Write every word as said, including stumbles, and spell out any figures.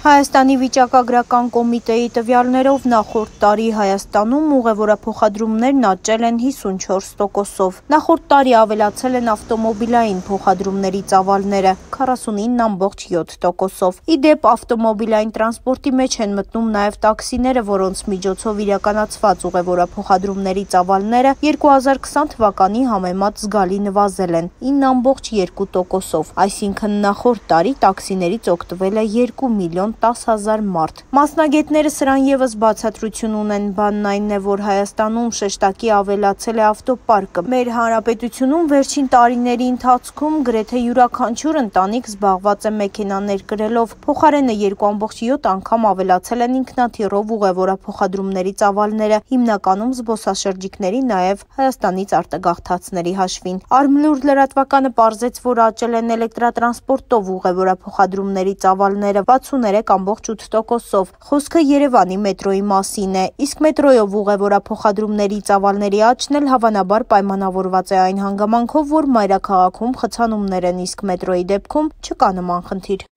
Հայաստանի վիճակագրական կոմիտեի տվյալներով նախորդ տարի Հայաստանում ուղևորափոխադրումներն աճել են հիսունչորս տոկոսով։ Նախորդ տարի ավելացել են ավտոմոբիլային փոխադրումների ծավալները քառասունինը ամբողջ յոթ տոկոսով։ Ի դեպ, ավտոմոբիլային տրանսպորտի մեջ են մտնում նաև տաքսիները, որոնց միջոցով իրականացված ուղևորափոխադրումների ծավալները երկու հազար քսան թվականի համեմատ զգալի նվազել են ինը ամբողջ երկու տոկոսով, այսինքն նախորդ տարի տաքսիներից օգտվել է երկու միլիոն տաս հազար մարդ։ Մասնագետները սրան ևս բացատրություն ունեն, բանն այն է, որ Հայաստանում շեշտակի ավելացել է ավտոպարկը։ Մեր հանրապետությունում վերջին տարիների ընթացքում գրեթե յուրաքանչյուր ընտանիք զբաղված է մեքենաներ կրելով, փոխարենը երկու ամբողջ յոթ անգամ ավելացել են ինքնաթիռով ուղևորափոխադրումների ծավալները, հիմնականում զբոսաշրջիկների, նաև Հայաստանից արտագաղթածների հաշվին։ Արմլուր լրատվականը պարզեց, որ աճել են էլեկտրատրանսպորտով ուղևորափոխադրումների ծավալները վաթսուններեք ամբողջ ութ տոկոսով։ Խոսքը Երևանի մետրոյի մասին է, իսկ մետրոյով ուղևորափոխադրումների ծավալների աճն էլ հավանաբար պայմանավորված է այն հանգամանքով, որ մայրաքաղաքում խցանումներ են, իսկ մետրոյի դեպքում չկա նման խնդիր։